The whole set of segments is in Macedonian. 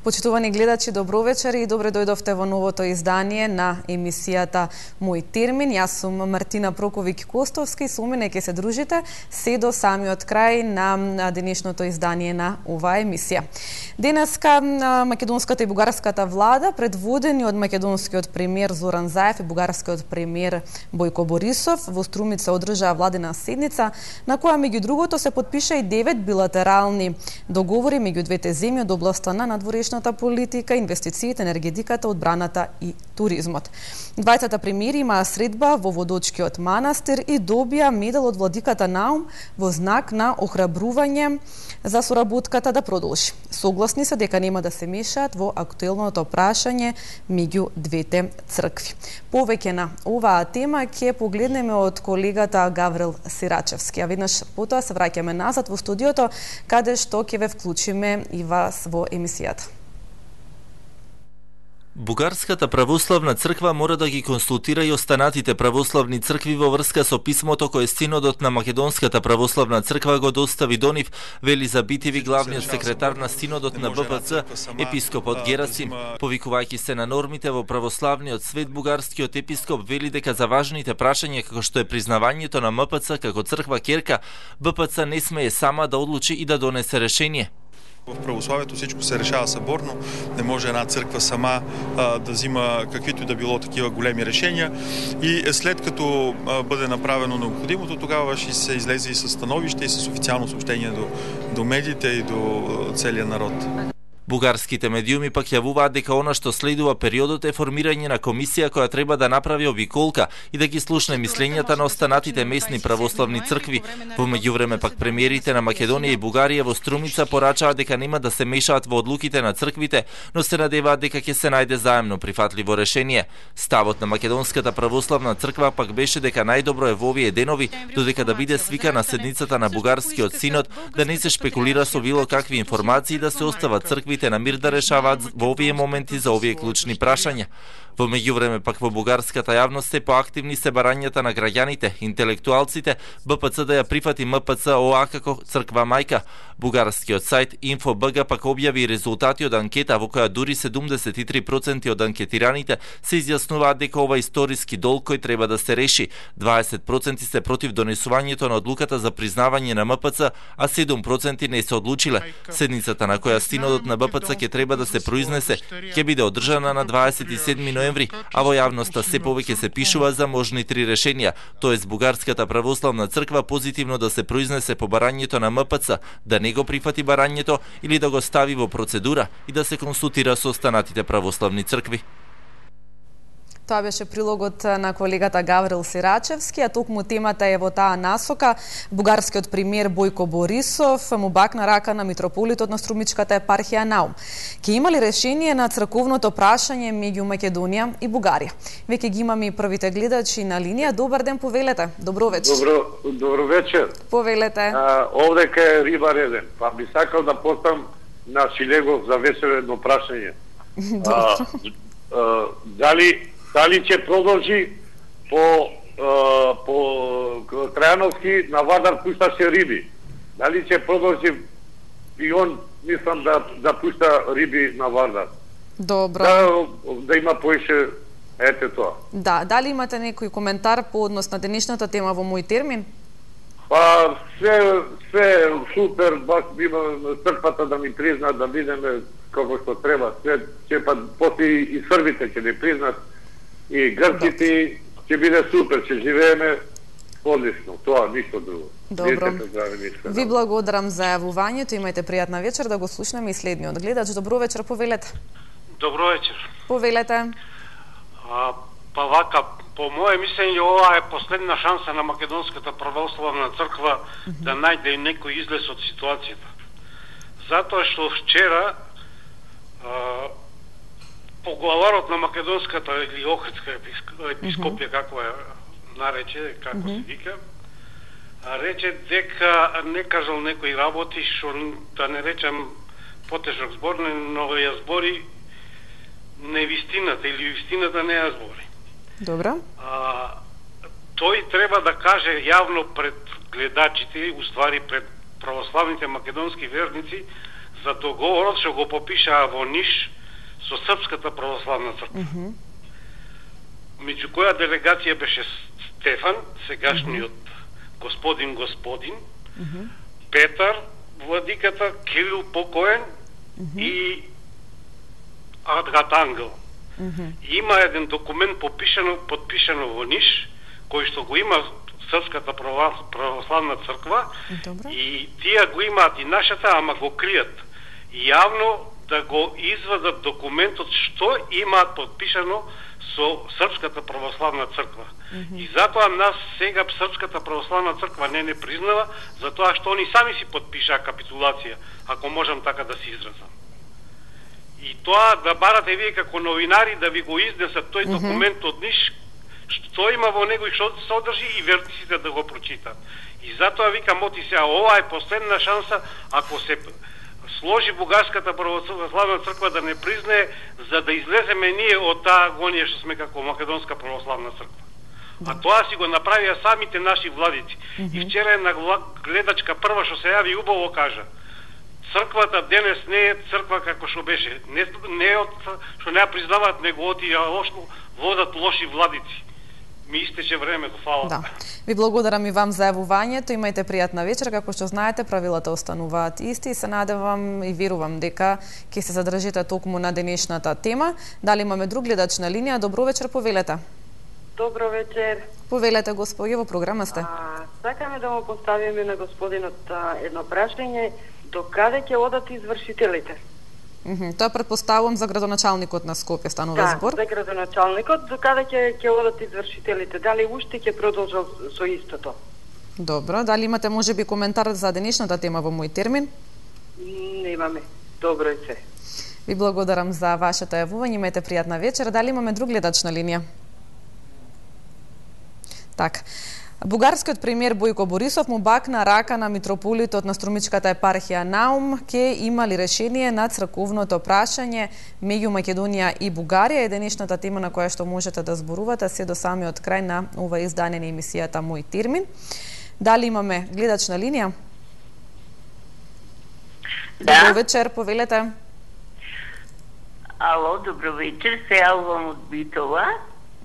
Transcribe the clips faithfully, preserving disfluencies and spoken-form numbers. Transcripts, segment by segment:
Почитувани гледачи, добро вечер и добре дојдовте во новото издание на емисијата Мој термин. Јас сум Мартина Проковиќ-Костовски, со мене ќе се дружите се до самиот крај на денешното издание на оваа емисија. Денеска македонската и бугарската влада, предводени од македонскиот премиер Зоран Заев и бугарскиот премиер Бојко Борисов, во Струмица одржаа владена седница на која меѓу другото се потпиша и девет билатерални договори меѓу двете земји од областа на надворешната политика, инвестициите, енергетиката, одбраната и туризмот. Двајцата премиери имаа средба во Водочкиот манастир и добија медал од владиката Наум во знак на охрабрување за соработката да продолжи. Согласни се дека нема да се мешаат во актуелното прашање меѓу двете цркви. Повеќе на оваа тема ќе погледнеме од колегата Гаврил Сирачевски, а веднаш потоа се враќаме назад во студиото, каде што ќе ве вклучиме и вас во емисијата. Бугарската православна црква мора да ги консултира и останатите православни цркви во врска со писмото кое Синодот на Македонската православна црква го достави до нив, вели Забитеви главниот секретар на Синодот на Б П Ц, епископот Герасим. Повикувајќи се на нормите во православниот свет, бугарскиот епископ вели дека за важните прашања како што е признавањето на М П Ц како црква керка, Б П Ц не смее сама да одлучи и да донесе решение. В православието всичко се решава съборно, не може една църква сама а, да взима каквито и да било такива големи решения и след като а, бъде направено необходимото, тогава ще се излезе и със становище и с официално съобщение до, до медиите и до целия народ. Бугарските медиуми пак јавуваат дека она што следува периодот е формирање на комисија која треба да направи обиколка и да ги слушне мислењата на останатите местни православни цркви. Во меѓувреме пак премиерите на Македонија и Бугарија во Струмица порачаат дека нема да се мешаат во одлуките на црквите, но се надеваат дека ќе се најде заемно прифатливо решение. Ставот на Македонската православна црква пак беше дека најдобро е во овие денови, додека да биде свикана седницата на бугарскиот синод, да не се шпекулира со било какви информации, да се остават црквите на мир да решаваат во овие моменти за овие клучни прашања. Во меѓувреме пак во бугарската јавност се поактивни се барањата на граѓаните, интелектуалците, Б П Ц да ја прифати М П Ц О А како црква мајка. Бугарскиот сајт Инфо Б Г пак објави резултати од анкета во која дури седумдесет и три проценти од анкетираните се изјаснуваат дека ова историски долг кој треба да се реши. дваесет проценти се против донесувањето на одлуката за признавање на М П Ц, а седум проценти не се одлучиле. Седницата на која Синодот на Б П Ц ќе треба да се произнесе ќе биде одржана на дваесет и седми ноември, а во јавноста се повеќе се пишува за можни три решенија, тоест Бугарската православна црква позитивно да се произнесе по барањето на М П Ц, да не го прифати барањето или да го стави во процедура и да се консултира со останатите православни цркви. Тоа беше прилогот на колегата Гаврил Сирачевски, а токму темата е во таа насока. Бугарскиот премиер Бојко Борисов му бакна рака на митрополитот на Струмичката епархија Наум. Ке има ли решение на црковното прашање меѓу Македонија и Бугарија? Веќе ги имаме и првите гледачи на линија. Добар ден, повелете. Добро вечер. Добро, добро вечер. Повелете. А, овдека е Риба Реден. Па би сакал да постам на Шилегов за весело прашање. А, а, дали Дали ќе продолжи по, а, по Трајановски на Вардар пушташе риби? Дали ќе продолжи и он, мислам, да, да пушта риби на Вардар? Добро. Да, да има поише, ете тоа. Да, дали имате некој коментар по однос на денешната тема во мој термин? Па, се, се супер, баш има црквата да ми признат, да видиме како што треба. Се, ќе па, после и србите ќе ни признат, и грците, ќе биде супер, ќе живееме одлично, тоа, ништо друго. Добро. Ви благодарам за јавувањето, имајте пријатна вечер, да го слушнеме и следниот гледач. Добро вечер, повелете. Добро вечер. Повелете. А, па вака, по моје мислење, ова е последна шанса на Македонската православна црква mm -hmm. да најде некој излез од ситуацијата. Затоа што вчера а, поглаварот на Македонската или Охридска епископија, mm -hmm. како е нарече, како mm -hmm. се вика, рече дека не кажал некои работи, што да не речам потежок збор, но ја збори невистината или вистината не ја збори. Добро. А, тој треба да каже јавно пред гледачите, уствари пред православните македонски верници, за договорот што го попишаа во Ниш со Српската православна црква. Mm -hmm. Меѓу која делегација беше Стефан, сегашниот mm -hmm. господин господин, mm -hmm. Петар, владиката, Кирил покоен mm -hmm. и Адгат Ангел. Mm -hmm. Има еден документ попишано, подпишано во Ниш, кој што го има Српската православна црква. Добре. И тие го имаат и нашата, ама го кријат. Јавно да го извадат документот што имаат подпишано со Српската православна црква. Mm -hmm. И затоа нас сега Српската православна црква не не признава, затоа што они сами си подпишаа капитулација, ако можам така да се изразам. И тоа да барате вие како новинари да ви го изнесат тој mm -hmm. документ од Ниш, што има во него и што се содржи, и вертиците да го прочитат. И затоа викам, оти сега, ова е последна шанса, ако се сложи Бугарската православна црква да не признае, за да излеземе ние од таа агонија што сме како Македонска православна црква. Да. А тоа си го направија самите наши владици. Mm -hmm. И вчера една гледачка прва што се јави убаво кажа: црквата денес не е црква како што беше. Не, не е од што не ја признаваат, него од ја лошо водат лоши владици. Ми истече времето, фала. Да. Ви благодарам и вам за јавувањето. Имајте пријатна вечер. Како што знаете, правилата остануваат исти и се надевам и верувам дека ќе се задржите токму на денешната тема. Дали имаме друг гледач на линија? Добро вечер, повелете. Добро вечер. Повелете, господи, во програма сте. А, сакаме да му поставиме на господинот а, едно прашање. До каде ќе одат извршителите? Mm -hmm. Тоа предпоставувам за градоначалникот на Скопје станува да, збор. Да, за градоначалникот. До каде ќе ќе одат извршителите? Дали уште ќе продолжат со истото? Добро. Дали имате можеби коментар за денешната тема во мој термин? Немаме. Добро е се. Ви благодарам за вашето јавување. Имајте пријатна вечер. Дали имаме друг гледач на линија? Така. Бугарскиот премиер Бојко Борисов му бакна рака на митрополитот на Струмичката епархија Наум ке има ли решение на црковното прашање меѓу Македонија и Бугарија. Е денешната тема на која што можете да зборувате се до самиот крај на ова издание на емисијата Мој термин. Дали имаме гледач на линија? Да. Добро вечер, повелете. Ало, добро вечер, се јавувам од Битола.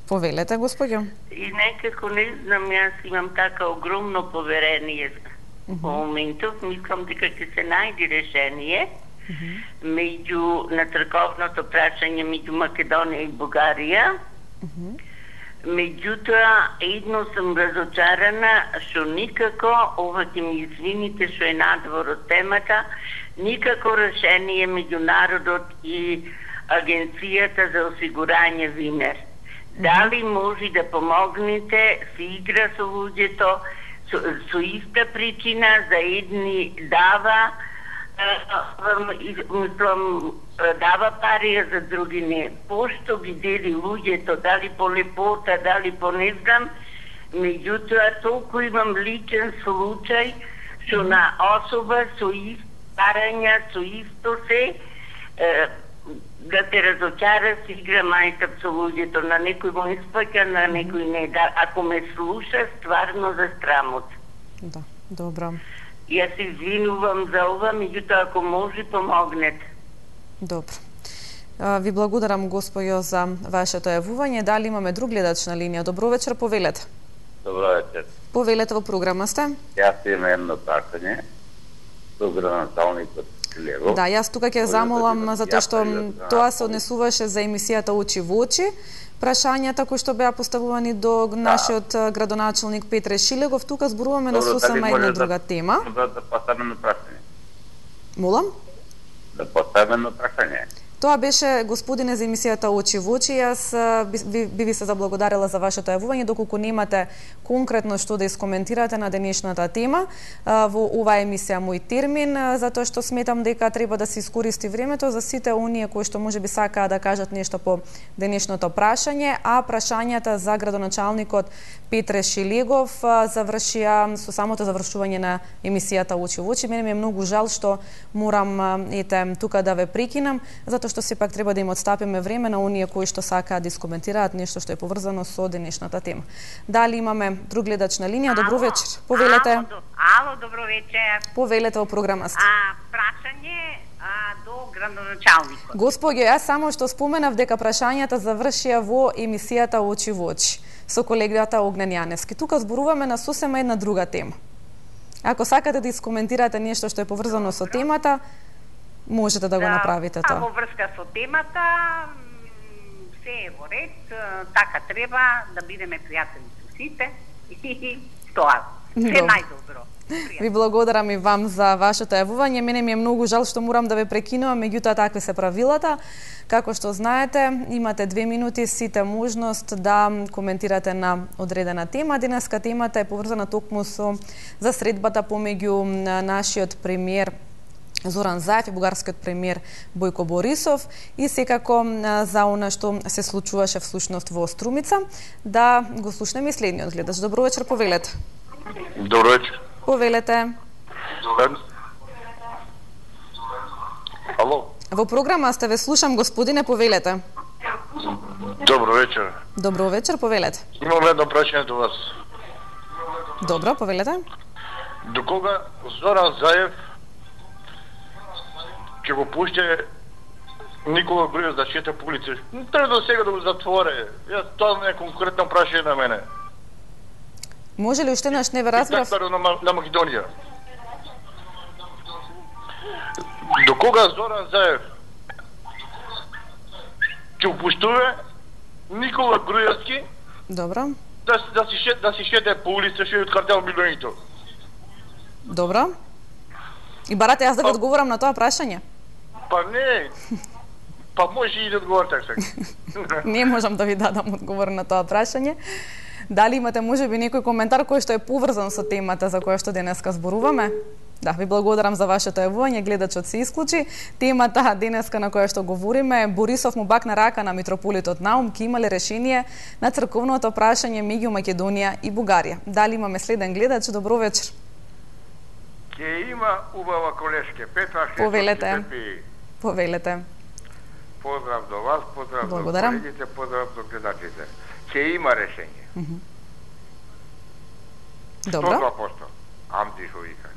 Повелете, господјо. И некако не знам, јас имам така огромно поверение во mm -hmm. моментов. Мислам дека ќе се најде решение mm -hmm. меѓу на црковното прашање меѓу Македонија и Бугарија. Mm -hmm. Меѓутоа, едно сум разочарана што никако, ова ќе ми извините што е надвор од темата, никако решение меѓу народот и Агенцијата за осигурање Винер. Дали може да помогнете, се игра со луѓето, со, со иста причина, за едни дава, мислам, дава пари, а за други не. Пошто ги дели луѓето, дали по лепота, дали по не знам, меѓутоа толку имам личен случај, што на особа со ист парања, со исто се, да те разочара, си игра мајтап со луѓето, на некој му испаќа, на некој не. Да, ако ме слуша, стварно за страмот. Да, добро. Јас се извинувам за ова, меѓутоа ако може, помогнете. Добро. Ви благодарам, господјо, за вашето јавување. Дали имаме друг гледач на линија? Добро вечер, повелете. Добро вечер. Повелете, во програма сте. Јас имам едно прашање до градоначалникот. Да, јас тука ќе замолам, затоа што тоа се однесуваше за емисијата Очи во очи, прашањата кои што беа поставувани до нашиот да. градоначалник Петре Шилегов. Тука зборуваме на сосема една друга тема. Да, да поставено прашање. Молам? Да поставено прашање. Тоа беше, господине, за емисијата Очи во очи. Јас би, би ви се заблагодарила за вашето јавување, доколку немате конкретно што да искоментирате на денешната тема во оваа емисија Мој термин, затоа што сметам дека треба да се искористи времето за сите оние кои што можеби сакаат да кажат нешто по денешното прашање, а прашањата за градоначалникот Петре Шилегов завршија со самото завршување на емисијата Очи во очи. Мене ми е многу жал што морам ете тука да ве прекинам, затоа што сепак треба да им отстапиме време на оние кои што сакаат да искоментираат нешто што е поврзано со денешната тема. Дали имаме друг гледач на линија? Добро вечер. Повелете. Ало, ало, добро вечер. Повелете во програма сте. А, прашање, а, а, до градоначалникот. Господјо, јас само што споменав дека прашањата завршија во емисијата Очи во очи со колегата Огнен Јаневски. Тука зборуваме на сосема една друга тема. Ако сакате да искоментирате нешто што е поврзано со темата, можете да го направите тоа. А во врска со темата, се е во ред, така треба да бидеме пријатели со сите и тоа. Се најдобро. Ви благодарам и вам за вашето јавување. Мене ми е многу жал што морам да ве прекинувам, меѓутоа такви се правилата. Како што знаете, имате две минути сите можност да коментирате на одредена тема. Денеска темата е поврзана токму со засредбата помеѓу нашиот премиер Зоран Заев и бугарскиот премиер Бојко Борисов и секако за она што се случуваше всушност во Струмица. Да го слушнеме следниот гледач. Добро вечер, повелете. Добро вечер. Повелете. Ало. Во програма сте, ве слушам, господине, повелете. Добро вечер. Добро вечер, повелете. Имам едно прашање до вас. Добро, повелете. До кога Зоран Заев ќе го пуште Никола Груевски да шета по улица? Треба до сега да го затворе. Јас тоа не е конкретно прашање на мене. Може ли уште наш не ве разбрав? На, на Македонија. До кога Зоран Заев ќе упуштува Никола Груевски? Добро. Да, да, си, да си шете по улица, што е од картел милионите. Добро. И барате јас да ви одговорам на тоа прашање? Па не. Па може и да одговор така. Не можам да ви дадам одговор на тоа прашање. Дали имате можеби некој коментар кој што е поврзан со темата за која што денеска зборуваме? Да, ви благодарам за вашето јавување, гледачот се исклучи. Темата денеска на која што говориме, Борисов му бакна рака на митрополитот Наум, ке имале решение на црковното прашање меѓу Македонија и Бугарија. Дали имаме следен гледач? Добро вечер. Ке има убава колешке. Петра Повелете. Повелете. Поздрав до вас, поздрав благодарам. до колегите, поздрав до гледачите. Ке има решение. Mm -hmm. Добро. сто два проценти. Амди што вика.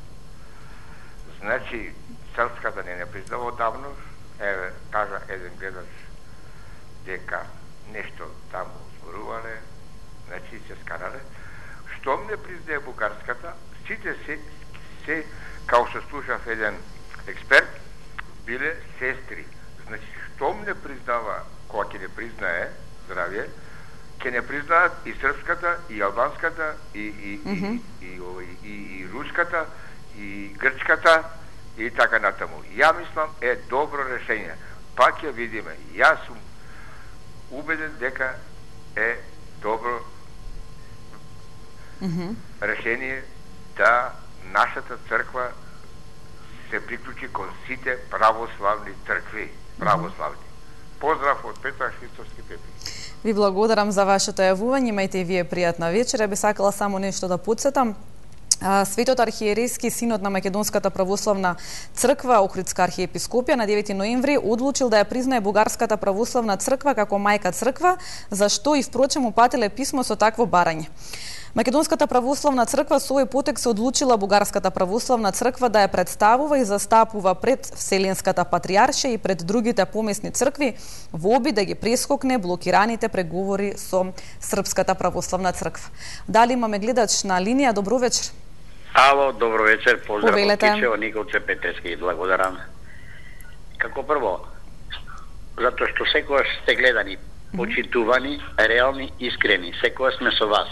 Значи, Српската не не признава одавно, еве, кажа еден гледач дека нешто таму зборувале, значи се скарале. Штом не признае бугарската, сите се, се, као што слушав еден експерт, биле сестри. Значи, штом не признава, кога ќе не признае, здравје, ќе не признаат и српската, и албанската, и, и, mm -hmm. и, и, и, и, и руската, и грчката, и така натаму. Ја мислам е добро решение. Пак ја видиме. Јас сум убеден дека е добро mm -hmm. решение да нашата црква се приклучи кон сите православни цркви. Православни. Поздрав од Петра Христовски Пепи. Ви благодарам за вашето јавување, имајте и вие пријатна вечер. Би сакала само нешто да потсетам. Светот архиерейски синод на Македонската православна црква, Охридска архиепископија, на девети ноември одлучил да ја признае Бугарската православна црква како мајка црква, за што и впрочем упатиле писмо со такво барање. Македонската православна црква со овој потек се одлучила Бугарската православна црква да ја представува и застапува пред Вселенската патријаршија и пред другите помесни цркви во обид да ги прескокне блокираните преговори со Српската православна црква. Дали имаме гледач на линија? Добро вечер. Ало, добро вечер, поздрав Повелете. од Кичево, Николце Петрески, благодарам. Како прво, затоа што секогаш сте гледани, почитувани, реални, искрени, секогаш сме со вас.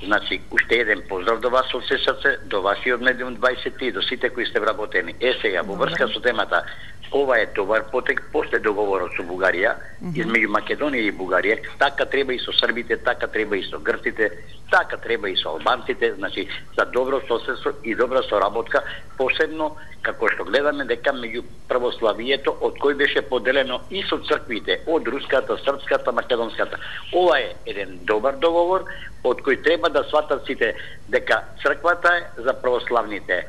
Значи, уште еден поздрав до вас од се срце, до вашиот медиум двајсет и до сите кои сте вработени. Е сега, во врска со темата, ова е добар потек после договорот со Бугарија, mm -hmm. измеѓу Македонија и Бугарија, така треба и со србите, така треба и со грците, така треба и со албанците, значи, за добро соседство и добра соработка, посебно како што гледаме дека меѓу православието, од кој беше поделено и со црквите, од руската, српската, македонската. Ова е еден добар договор, од кој треба да сватат сите дека црквата е за православните,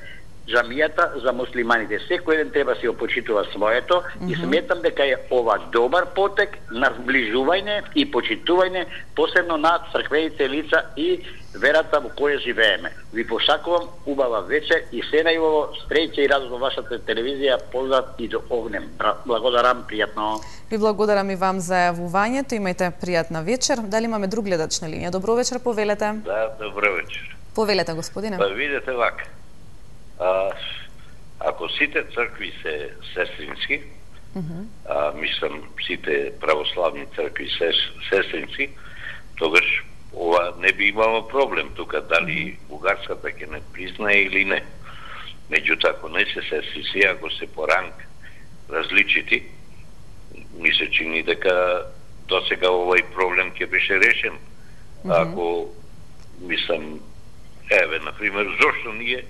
джамијата за муслиманите. Секој еден треба си опочитува своето mm -hmm. и сметам дека е ова добар потек на зближување и почитување, посебно на црквените лица и верата во која живееме. Ви посакувам убава вечер и се најубаво стреќа и радост во вашата телевизија. Поздрав и до огнем. Благодарам, пријатно. Ви благодарам и вам за јавувањето. Имајте пријатна вечер. Дали имаме друг гледач на линија? Добро вечер, повелете. Да, добро вечер. Повелете, господине. Па видете вака. А, ако сите цркви се сестрински, uh -huh. а, мислам сите православни цркви се сестрински, тогаш ова не би имало проблем тука, дали бугарската ќе не признае или не. Меѓутоа, ако не се сестрински, ако се по ранг различити, ми се чини дека досега овој проблем ќе беше решен. Uh -huh. Ако, мислам, еве, например, зошто ние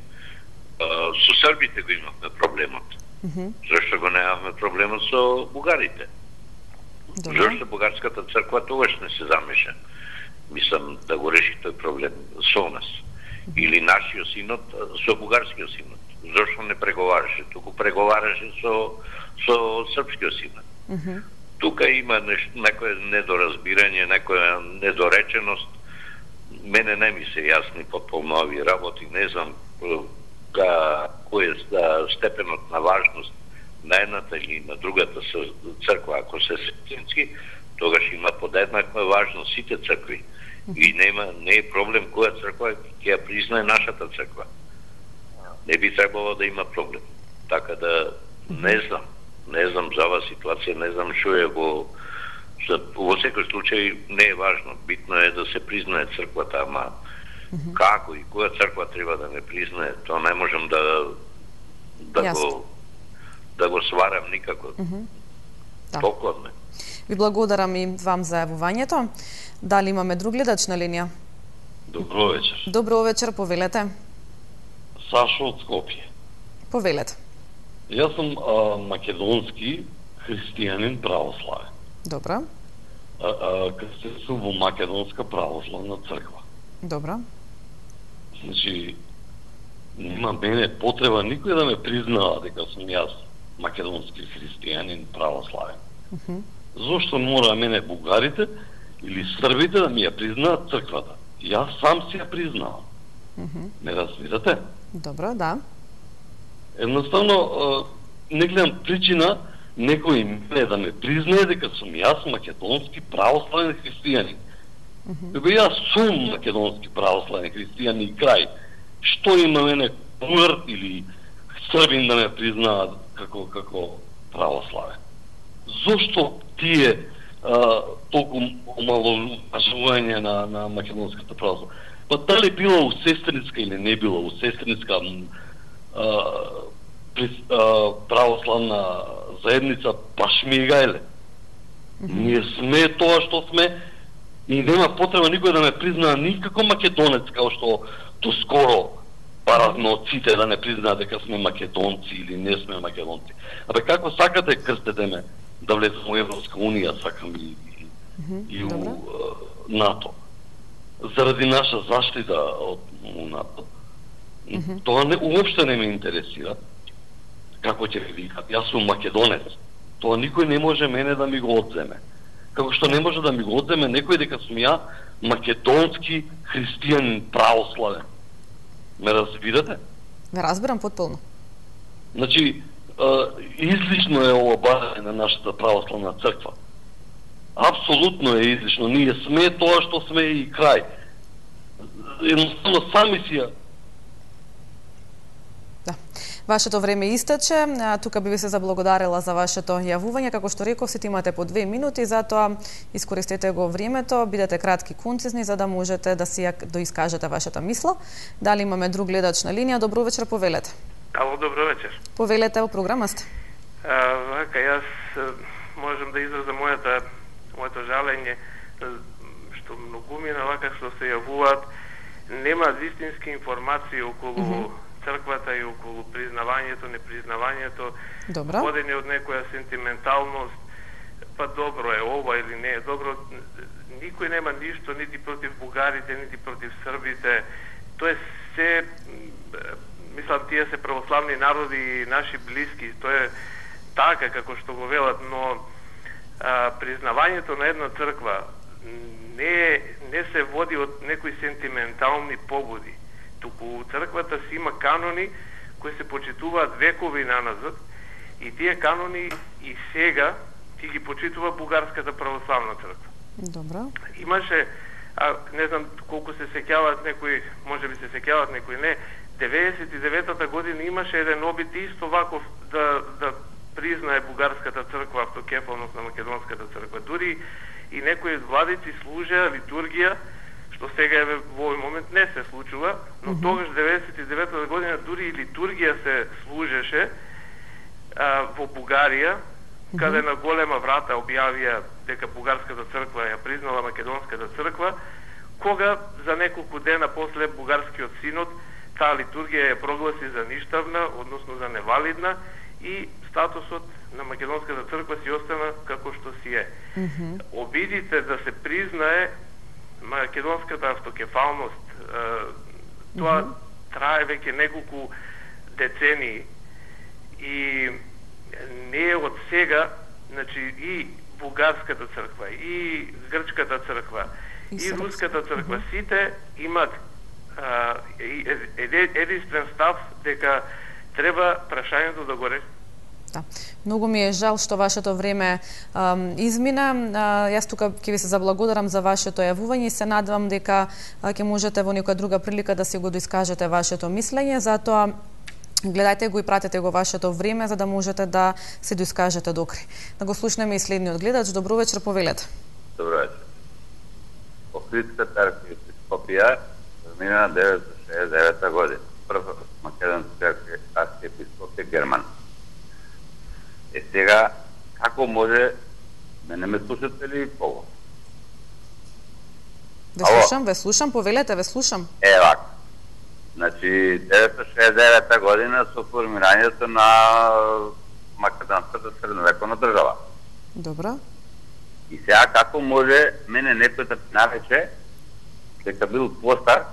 а, со србите го имавме проблемот? Uh -huh. Зошто го немавме проблемот со бугарите? Добре. Зошто бугарската црква тогаш не се замеша? Мислам да го реши тој проблем со нас. Или нашиот синот со бугарскиот синот. Зошто не преговараше? Туку преговараше со, со српскиот синот. Uh -huh. Тука има неш, некоја недоразбирање, некоја недореченост. Мене не ми се јасни потполно овие работи, не знам ка, кој е степенот на важност на едната или на другата црква. Ако се сестрински, тогаш има подеднаква важност сите цркви. И нема, не е проблем која црква ќе ја признае нашата црква. Не би требало да има проблем. Така да, не знам, не знам за оваа ситуација, не знам што е го... Во секој случај не е важно. Битно е да се признае црквата, ама uh -huh. како и која црква треба да не признае, тоа не можем да да го да го сварам никако. Uh -huh. Да. Толкова не. Ви благодарам и вам за јавувањето. Дали имаме друг гледач на линија? Добро вечер. Добро вечер, повелете. Сашо од Скопје. Повелете. Јас сум а, македонски христијанин православен. Добро. А, а, крстен сум во Македонска православна црква. Добро. Значи, нема мене потреба никој да ме признава дека сум јас македонски христијанин православен. Uh -huh. Зошто мора мене бугарите или србите да ми ја признаат црквата? Јас сам си ја признавам. Uh -huh. Ме разбирате? Добро, да. Едноставно, не гледам причина некој мене да ме признае дека сум јас македонски православен христијанин. Uh -huh. Дека јас сум македонски православен христијанин и крај. Што има мене бугар или србин да ме признаат како како православен? Зошто тие а, толку омаловажување на, на македонската православа? Па дали била у сестринска или не била у сестринска а, а, православна заедница, баш ми егајле. Mm -hmm. Ние сме тоа што сме и нема потреба никој да ме признаа никако македонец, као што доскоро паравме од сите да не признаат дека сме македонци или не сме македонци. Абе како сакате крстете ме да влезам во Европска унија, сакам и, и, mm -hmm. и у uh, НАТО. Заради наша заштита од НАТО. Mm -hmm. Тоа не, уопште не ме интересира. Како ќе ви викат, јас сум македонец. Тоа никој не може мене да ми го одземе. Како што не може да ми го одземе некој дека сум ја македонски христијанин православен. Ме разбирате? Ме разбирам потполно. Значи, излишно е ова барање на нашата православна црква. Апсолутно е излишно. Ние сме тоа што сме и крај. Едноставно сами си ја. Да. Вашето време истече. Тука би ви се заблагодарила за вашето јавување. Како што реков, сите имате по две минути, затоа искористете го времето, бидете кратки, концизни, за да можете да си ја доискажете вашата мисла. Дали имаме друг гледач на линија? Добро вечер, повелете. Ало, добро вечер. Повелете, во програма сте. А, вака, јас можам да изразам мојата, моето жалење, што многумина вака што се јавуваат, нема вистински информации околу mm -hmm. црквата и околу признавањето, непризнавањето, водени од некоја сентименталност, па добро е ова или не е добро. Никој нема ништо нити против бугарите, нити против србите. Тоа е се, мислам, тие се православни народи и наши блиски. Тоа е така како што го велат, но а, признавањето на една црква не, не се води од некои сентиментални канони кои се почитуваат векови наназад и тие канони и сега ти ги почитува Бугарската православна црква. Добро. Имаше, а, не знам колку се сеќаваат некои, може би се сеќаваат некои не, деветдесет и деветата година имаше еден обид исто ваков да, да признае Бугарската црква автокефалност на Македонската црква. Дури и некои владици служеа литургија, што сега во овој момент не се случува, но mm -hmm. тогаш деветдесет и деветата година дури и литургија се служеше а, во Бугарија, mm -hmm. каде на голема врата објавија дека Бугарската црква ја признала Македонската црква, кога за неколку дена после Бугарскиот синод таа литургија ја прогласи за ништавна, односно за невалидна, и статусот на Македонската црква си остана како што си е. Mm -hmm. Обидите да се признае Македонската автокефалност, тоа mm -hmm. трае веќе неколку децении и не е од сега, значи и Бугарската црква, и Грчката црква, и, и Руската црква, mm -hmm. сите имат а, единствен став дека треба прашањето да го реши. Да. Многу ми е жал што вашето време ам, измина. А, јас тука ќе ви се заблагодарам за вашето јавување и се надевам дека ќе можете во некоја друга прилика да си го доискажете вашето мислење, затоа гледајте го и пратете го вашето време за да можете да се доискажете докри. Да го слушнеме и следниот гледач. Добро вечер, повелете. Добро вечер. Охридската архиепископија замина деветстотини шеесет и девета година. Прв македонски архиепископ е Герман. Е сега, како може, мене ме слушате ли пого? Ве слушам, ве слушам, повелете, ве слушам. Е, вак. Значи, деветстотини шеесет и девета година со формирањето на Македонската средновековна држава. Добро. И сега како може мене некој да нарече дека бил постар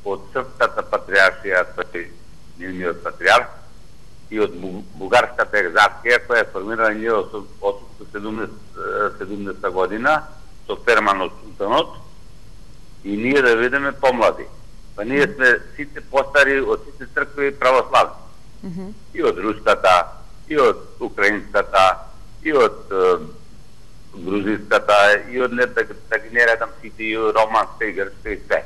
од Српската патриаршија, тој нивниот патриарх, и од Бугарската екзархија, која е формирана ние од седумдесета година со Ферман од Султанот, и ние да видиме помлади. Па ние сме сите постари од сите цркви православни. Mm -hmm. И од руската, и од украинската, и од е, грузинската, и од не да, да ги не редам сите, и од романска, и грчка, и све.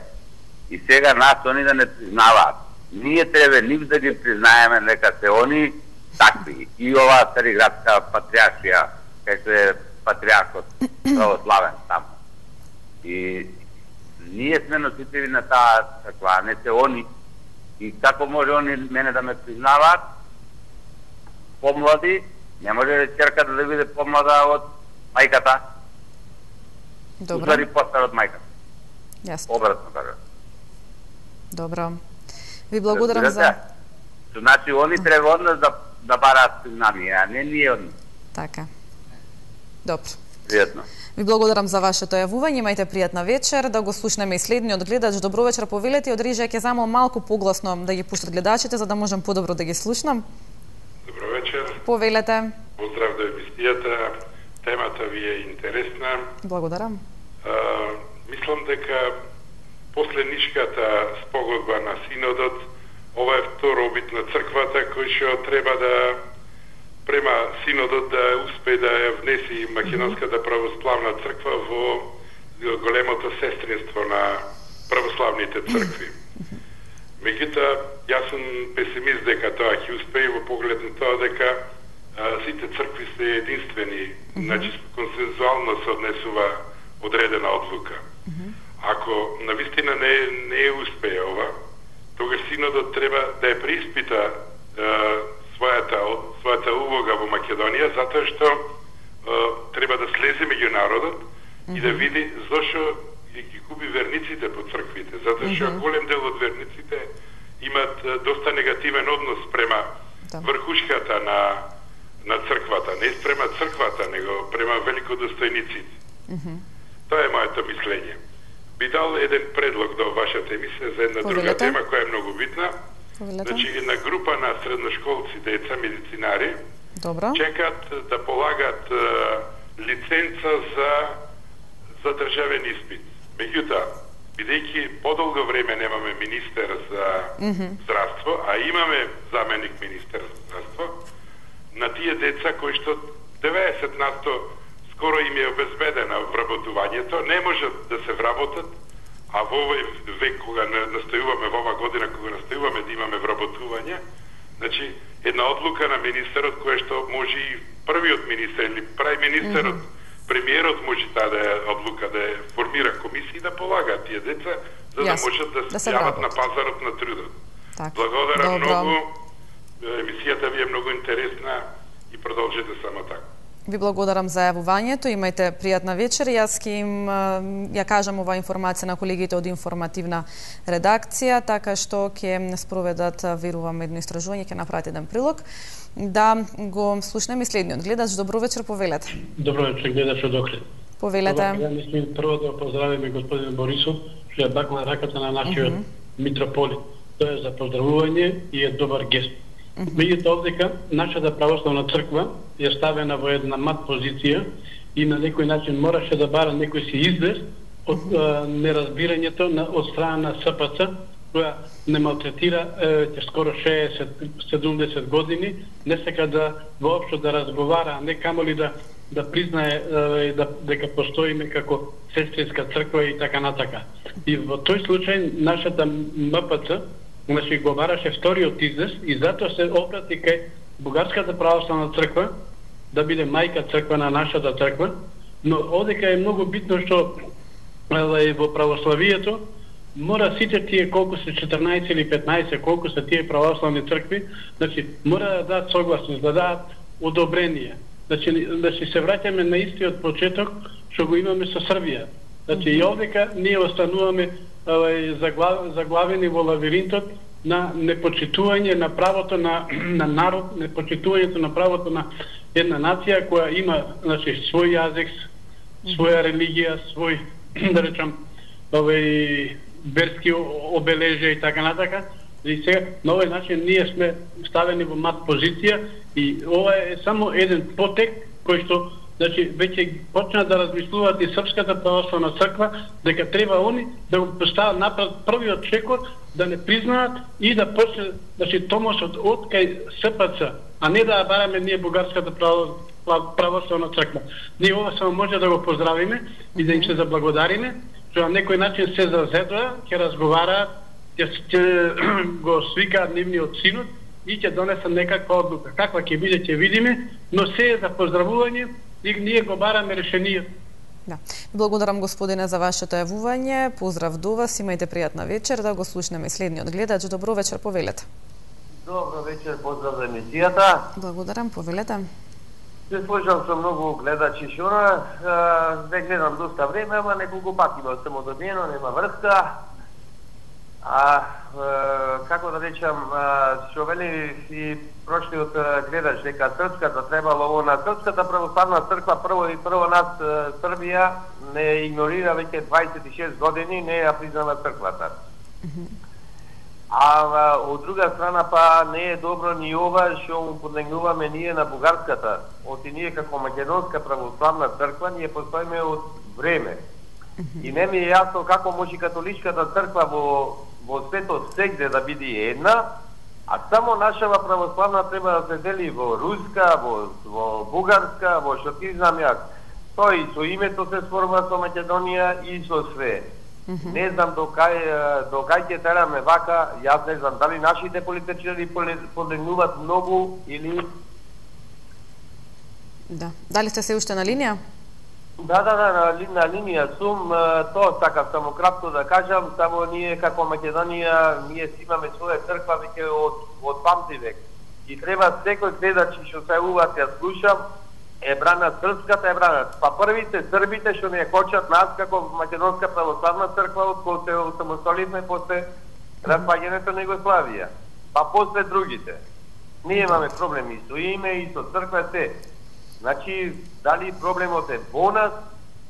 И сега нас они да не признаваат. Ние треба нив да ги признаеме нека се они такви. И оваа Цариградска патриаршија, како е патриархот православен таму. И ние сме носители на таа црква, не се они. И како може они мене да ме признаваат? Помлади, не може ќерката да биде помлада од мајката. Добро. Устари постар од мајката. Јасно. Обратно кажа. Добро. Ви благодарам за... Значи, они треба од нас да, да бараат признание, а не ние од нас. Така. Добро. Пријатно. Ви благодарам за вашето јавување, имајте пријатна вечер. Да го слушнеме и следниот гледач. Добро вечер, повелете. Од режија ќе замол малку погласно да ги пуштат гледачите, за да можам подобро да ги слушнам. Добро вечер. Повелете. Поздрав до емисијата. Темата ви е интересна. Благодарам. А, мислам дека после Нишката спогодба на Синодот, ова е втор обид на црквата кој што треба да према Синодот да успее да ја внеси Македонската православна црква во големото сестринство на православните цркви. Меѓутоа, јас сум песимист дека тоа ќе успее во поглед на тоа дека а, сите цркви се единствени, mm -hmm. значи консензуално се однесува одредена одлука. Mm -hmm. Ако навистина не, не успее ова, тогаш Синодот треба да ја преиспита е, својата, својата улога во Македонија, затоа што е, треба да слезе меѓу народот mm -hmm. и да види зошто ги губи верниците по црквите, затоа што mm -hmm. голем дел од верниците имат е, доста негативен однос према да. врхушката на, на црквата, не према црквата, него према великодостојниците. Mm -hmm. Тоа е моето мислење. Би дал еден предлог до вашата емисија за една Повелете. друга тема која е многу битна. Повелете. Значи, една група на средношколци, деца, медицинари, Добро. чекат да полагат е, лиценца за, за државен испит. Меѓутоа, бидејќи подолго време немаме министер за Мгм. здравство, а имаме заменик министер за здравство, на тие деца кои што деветдесет на сто скоро им е обезбедено вработувањето, не можат да се вработат, а во овој век кога настојуваме, во ова година кога настојуваме да имаме вработување, значи една одлука на министерот која што може и првиот министер или прај министерот, mm -hmm. премиерот може таа да е одлука да е формира комисии да полагаат тие деца за да Јас, можат да да се се јават вработат. на пазарот на трудот. Так. Благодарам Добро. многу. Емисијата ви е многу интересна и продолжете само така. Ви благодарам за јавувањето, имајте пријатна вечер. Јас ќе им ја кажам оваа информација на колегите од информативна редакција, така што ќе спроведат, верувам, едно истражување, ќе направат еден прилог. Да го слушнеме следниот гледач. Добро вечер, повелете. Добро вечер, гледач од Охрид. Повелете. Ја мислим прво да поздравиме господин Борисов, што ја бакна раката на нашиот mm -hmm. митрополит. Тоа е за поздравување и е добар гест. Меѓутоа овдека нашата православна црква е ставена во една мат позиција и на некој начин мораше да бара некој си излез од а, неразбирањето на од страна на С П Ц, која не малтретира е, скоро шеесет седумдесет години, не сека да воопшто да разговара, а не камоли да да признае е, да дека постоиме како сестринска црква и така натака. И во тој случај нашата М П Ц значи го бараше вториот излез и затоа се обрати кај Бугарската православна црква да биде мајка црква на нашата црква, но одека е многу битно што е, во православието мора сите тие колку се четрнаесет или петнаесет, колку се тие православни цркви, значи мора да дадат согласност, да дадат одобрение. Значи да се враќаме на истиот почеток што го имаме со Србија. Значи и овдека ние остануваме заглавени во лавиринтот на непочитување на правото на, на народ, непочитувањето на правото на една нација која има, значи, свој јазик, своја религија, свој, да речам, овој верски обележја и така натака. И сега на овој начин ние сме ставени во мат позиција и ова е само еден потек кој што, значи, веќе почна да размислуваат и Српската православна црква дека треба они да го постават напред првиот чекор, да не признаат и да почне, значи, томосот од кај С П Ц, а не да бараме ние Бугарската православна црква. Ние ова само може да го поздравиме и да им се заблагодариме, што на некој начин се зазедоа, ќе разговараат, ќе го свикаат нивниот синот и ќе донесат некаква одлука. Каква ќе биде, ќе видиме, но се е за поздравување и ние го бараме решението. Да. Благодарам, господине, за вашето јавување. Поздрав до вас, имајте пријатна вечер. Да го слушнеме следниот гледач. Добро вечер, повелете. Добро вечер, поздрав за емисијата. Благодарам, повелете. Се слушам со многу гледачи шуна, не гледам доста време, ама неколку пати ме сум одобиено, нема врска. А, како да речам, што вели и прошлиот гледач дека Српската требало на Српската православна црква прво и прво нас Србија не игнорира веќе дваесет и шест години, не ја признава црквата. А од друга страна па не е добро ни ова што му поднегнуваме ние на Бугарската. Оти ние како Македонска православна црква ние постоиме од време. И не ми е јасно како може католичката црква во во светот сегде да биде една, а само нашава православна треба да се дели во руска, во, во бугарска, во што ти знам јас. Тоа и со името се сформа со Македонија и со све. Mm -hmm. Не знам до кај, до кај ќе тераме вака, јас не знам дали нашите политичари подигнуваат многу или... Да. Дали сте се уште на линија? Да, да, да, на, на линија сум, тоа сакав само кратко да кажам, само ние како Македонија, ние си имаме своја црква веќе од, од памтивек. И треба секој гледач што се уват ја слушам, е бранат српската, е бранат. Па првите србите што не хочат нас како Македонска православна црква од кога се осамостоливме после распаѓањето на Југославија. Па после другите. Ние имаме проблеми со име и со црква се. Значи, дали проблемот е во нас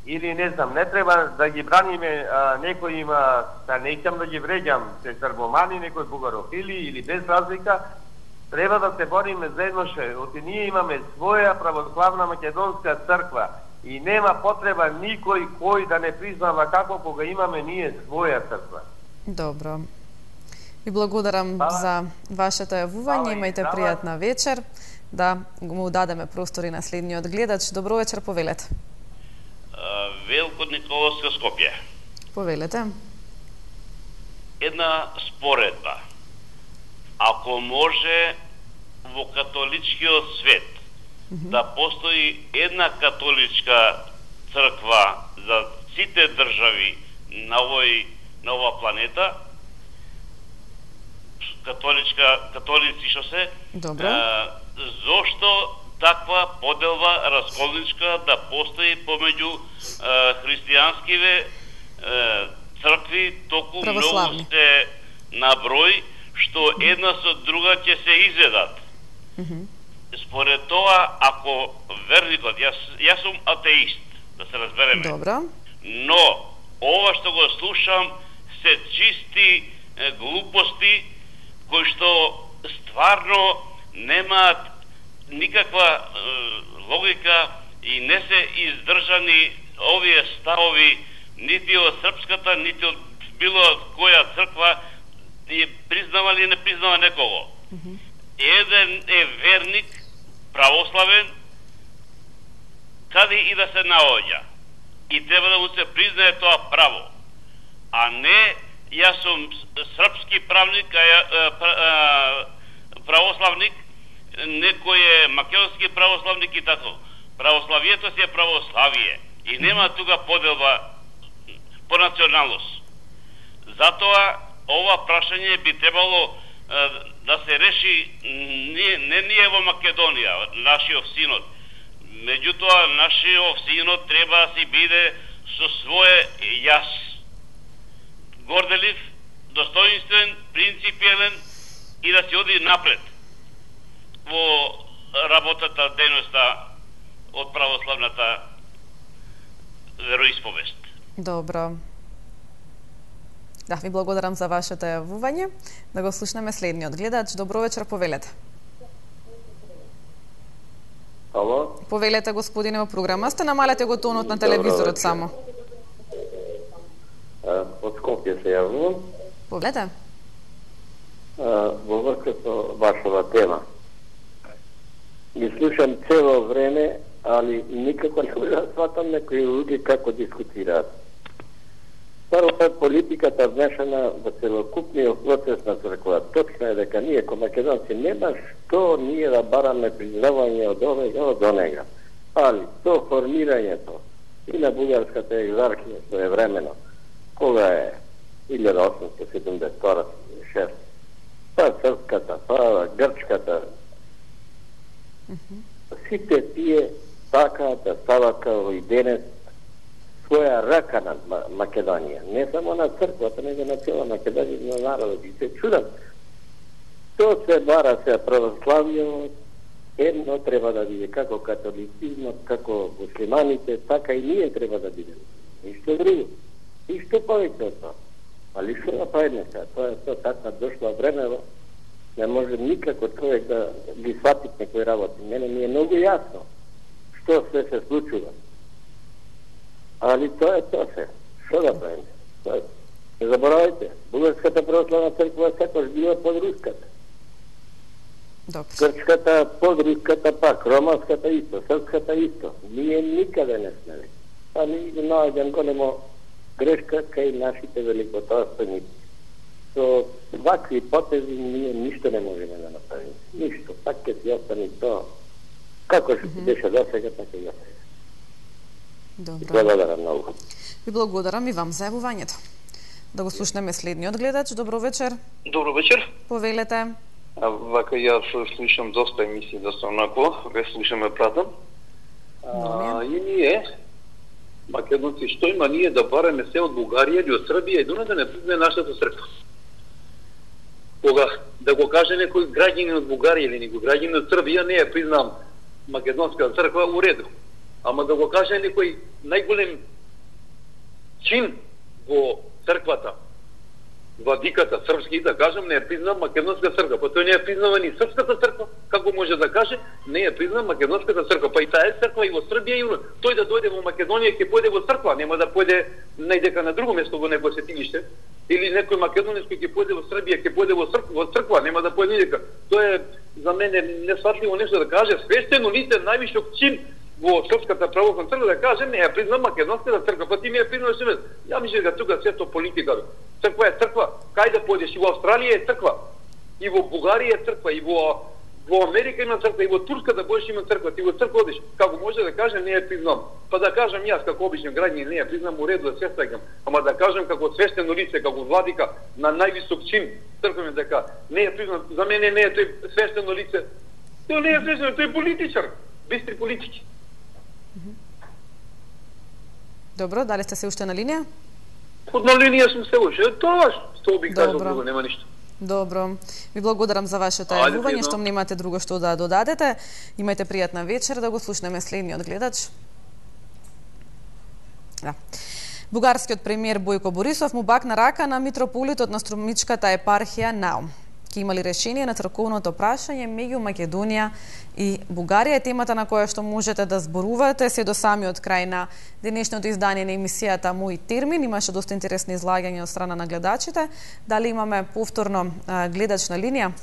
или не знам, не треба да ги браниме а, некој има, да не искам да ги вреѓам, се србомани, некој бугарофили или без разлика, треба да се бориме заедно ше. Оти ние имаме своја православна македонска црква И нема потреба никој кој да не признава како кога имаме ние своја црква. Добро. И благодарам Бала. за вашето јавување. Имајте Бала. пријатна вечер. Да му дадеме простори на следниот гледач. Добро вечер, повелете. Велко Николовска, Скопје. Повелете. Една споредба. Ако може во католичкиот свет mm -hmm. да постои една католичка црква за сите држави на овој на ова планета, католичка католици што се, Добро. А, зошто таква поделба расколничка да постои помеѓу а, христијанскиве а, цркви, толку многу сте на број, што една со друга ќе се изведат. Mm -hmm. Според тоа, ако верникот, јас, јас сум атеист, да се разбереме. Добро. Но, ова што го слушам, се чисти е, глупости, кои што стварно немаат никаква е, логика и не се издржани овие ставови нити од српската, нити од било од која црква и признава или не признава некого. Mm -hmm. Еден е верник, православен, каде и да се наоѓа. И треба да му се признае тоа право. А не, јас сум српски правник, а, а, а, православник, некој е македонски православник и така. Православието си е православие. И нема тука поделба по националност. Затоа, ова прашање би требало е, да се реши не, не ние во Македонија, нашиот синод. Меѓутоа, нашиот синод треба да си биде со свое јас. Горделив, достоинствен, принципиелен и да се оди напред во работата, дејноста од православната вероисповест. Добро. Да, ви благодарам за вашето јавување. Да го слушнеме следниот гледач. Добро вечер, повелете. Ало? Повелете, господине, во програма. Сте намалете го тонот на телевизорот само. Од Скопје се јавувам. Повелете. Во врска со вашава тема. Ги слушам цело време, али никако не можам да сватам некои луѓе како дискутираат. Прво е политиката вмешана во целокупниот процес на црква. Точно е дека ние, ко македонци, нема што ние да бараме признавање од овега, од онега. Али, то формирањето и на бугарската екзархија своевремено, кога е илјада осумстотини седумдесет и втора шеста, па српската, па грчката, сите тие така да стават као и денес своја рака на Македонија. Не само на црквата, него на цела Македонија, на народот. И се чудам. То се бара се православиот, едно треба да биде како католицизмот, како муслиманите, така и ние треба да бидеме. Ништо друго. Ништо повеќе од тоа. Али што направиме сега? Тоа е тоа така дошло време, не може никако човек да ги свати некои работи. Мене ми е многу јасно што се се случува. Али тоа е тоа се. Што да правиме? Не заборавајте, бугарската православна црква секој била под руската. Грчката под руската пак, романската исто, српската исто. Ние никаде не сме. Али наоѓам големо грешка кај нашите великотојственици. Со вакви потези ние ништо не можеме да направиме. Ништо. Пак ќе си остани тоа. Како што mm-hmm. беше до сега, така и до сега. Добро. Благодарам многу. Ви благодарам и вам за јавувањето. Да го слушнеме следниот гледач. Добро вечер. Добро вечер. Повелете. А, вака јас слушам доста емисии, доста онако, ве слушаме пратам. А, и ние, македонци, што има ние да бараме се од Бугарија или од Србија и дуна да не признае нашата црква? Кога да го каже некој граѓанин од Бугарија или некој граѓанин од Србија, не ја признам македонска црква, у реду. Ама да го каже некој најголем чин во црквата, владиката српски, да кажем, не е признав македонска црква, па тој не е признава ни српската црква, како може да каже, не е признав македонската црква, па и таа е црква и во Србија и тој да дојде во Македонија ќе појде во црква, нема да појде најдека на друго место во некој светилиште, или некој македонец кој ќе појде во Србија ќе појде во црква, во црква, нема да појде никаде. Тоа е за мене несватливо нешто да каже свештено лице највишок чин во Српската православна црква да каже не е признав македонската црква, па ти ми е признав себе. Ја мислам дека тука сето политика. Црква е црква. Кај да појдеш и во Австралија е црква. И во Бугарија е црква, и во во Америка има црква, и во Турска да будеш има црква, ти во црква одиш. Како може да каже не е признав. Па да кажам јас како обичен граѓанин не е признав, у реду да се сеќам. Ама да кажам како свештено лице, како владика на највисок чин, црквен дека не е признав. За мене не е тој свештено лице. Тој не е свештено, тој е политичар. Бистри политики. Добро, дали сте се уште на линија? Од на линија сум се уште. Тоа што би кажал друго, нема ништо. Добро. Ви благодарам за вашето јавување, што немате друго што да додадете. Имајте пријатна вечер, да го слушнеме следниот гледач. Да. Бугарскиот премиер Бојко Борисов му бакна рака на митрополитот на Струмичката епархија Наум. Ке имали решение на црковното прашање меѓу Македонија и Бугарија е темата на која што можете да зборувате се до самиот крај на денешното издание на емисијата Мој термин. Имаше доста интересни излагања од страна на гледачите. Дали имаме повторно а, гледач на линија?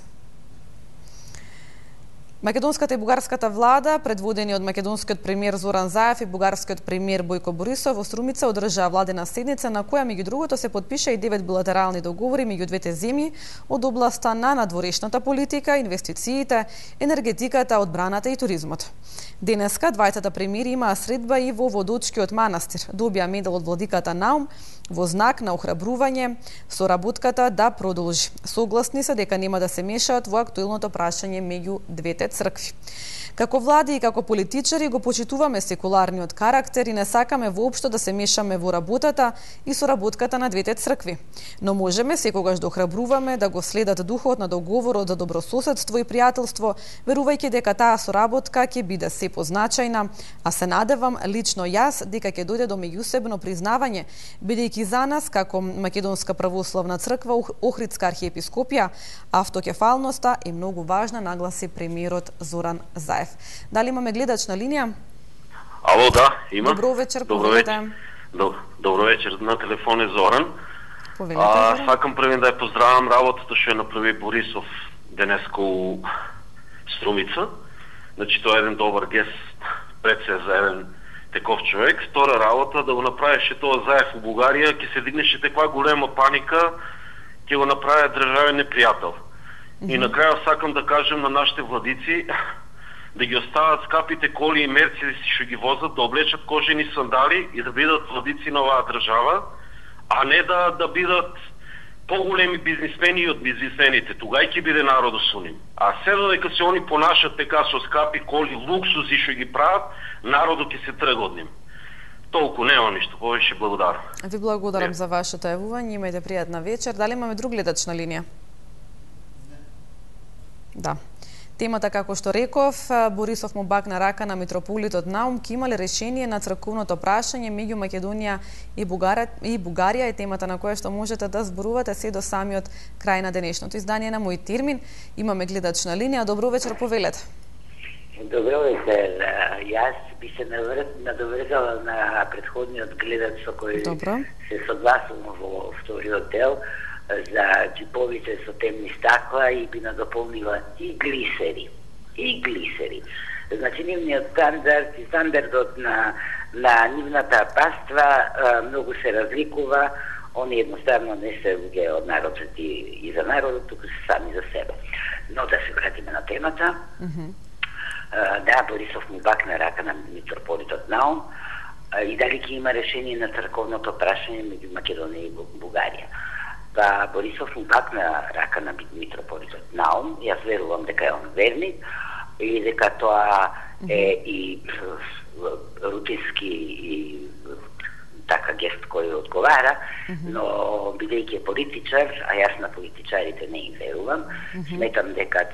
Македонската и бугарската влада, предводени од македонскиот премиер Зоран Заев и бугарскиот премиер Бојко Борисов во Струмица одржаа владена седница на која меѓу другото се потпиша и девет билатерални договори меѓу двете земји од областа на надворешната политика, инвестициите, енергетиката, одбраната и туризмот. Денеска двајцата премиери имаа средба и во Водочкиот манастир. Добија медал од владиката Наум во знак на охрабрување соработката да продолжи. Согласни се дека нема да се мешаат во актуелното прашање меѓу двете цркви. Како влади и како политичари го почитуваме секуларниот карактер и не сакаме воопшто да се мешаме во работата и соработката на двете цркви. Но можеме секогаш да охрабруваме да го следат духот на договорот за добрососедство и пријателство, верувајќи дека таа соработка ќе биде се позначајна, а се надевам лично јас дека ќе дојде до меѓусебно признавање, бидејќи за нас како Македонска православна црква Охридска архиепископија автокефалноста е многу важна, нагласи премиерот Зоран Заев. Дали имаме гледач на линија? Ало, да, има. Добро вечер, Добро вечер. Добро вечер, на телефон е Зоран. Повелете, а, Зоран. сакам првен да ја поздравам работата што ја направи Борисов денеско у Струмица. Значи тоа е еден добар гест пред се за еден таков човек. Втора работа да го направеше тоа Заев у Бугарија, ќе се дигнеше таква голема паника, ќе го направи државен непријател. Mm-hmm. И на крај сакам да кажем на нашите владици да ги остават скапите коли и мерцедеси што ги возат, да облечат кожени сандали и да бидат владици на оваа држава, а не да да бидат поголеми бизнисмени од бизнисмените. Тугај ќе биде народот со нив. А седо дека се они понашат така со скапи коли, луксузи што ги прават, народот ќе се трга од нив. Толку нема ништо повеќе, благодарам. Ви благодарам за вашето јавување, имајте пријатна вечер. Дали имаме друг гледач на линија? Да. Темата, како што реков, Борисов му бакна рака на митрополитот Наум, ке имале решение на црковното прашање меѓу Македонија и Бугарија, и Бугарија е темата на која што можете да зборувате се до самиот крај на денешното издание на Мој термин. Имаме гледач на линија. Добро вечер, повелете. Добро вечер. Јас би се надоврзала на претходниот гледач со кој Добро. се согласувам во вториот дел за џиповите со темни стакла и би надополнила и глисери. И глисери. Значи, нивниот стандард и стандардот на, на нивната паства а, многу се разликува. Они едноставно не се луѓе од народот и, и за народот, туку се сами за себе. Но да се вратиме на темата. Mm-hmm. а, да, Борисов му бакна рака на митрополитот Наум а, и дали ќе има решение на црковното прашање меѓу Македонија и Бугарија. Па Борисов му бакна рака на митрополитот Наум, јас верувам дека е он верник и дека тоа е и рутински и така гест кој одговара, но бидејќи е политичар, а јас на политичарите не им верувам, сметам дека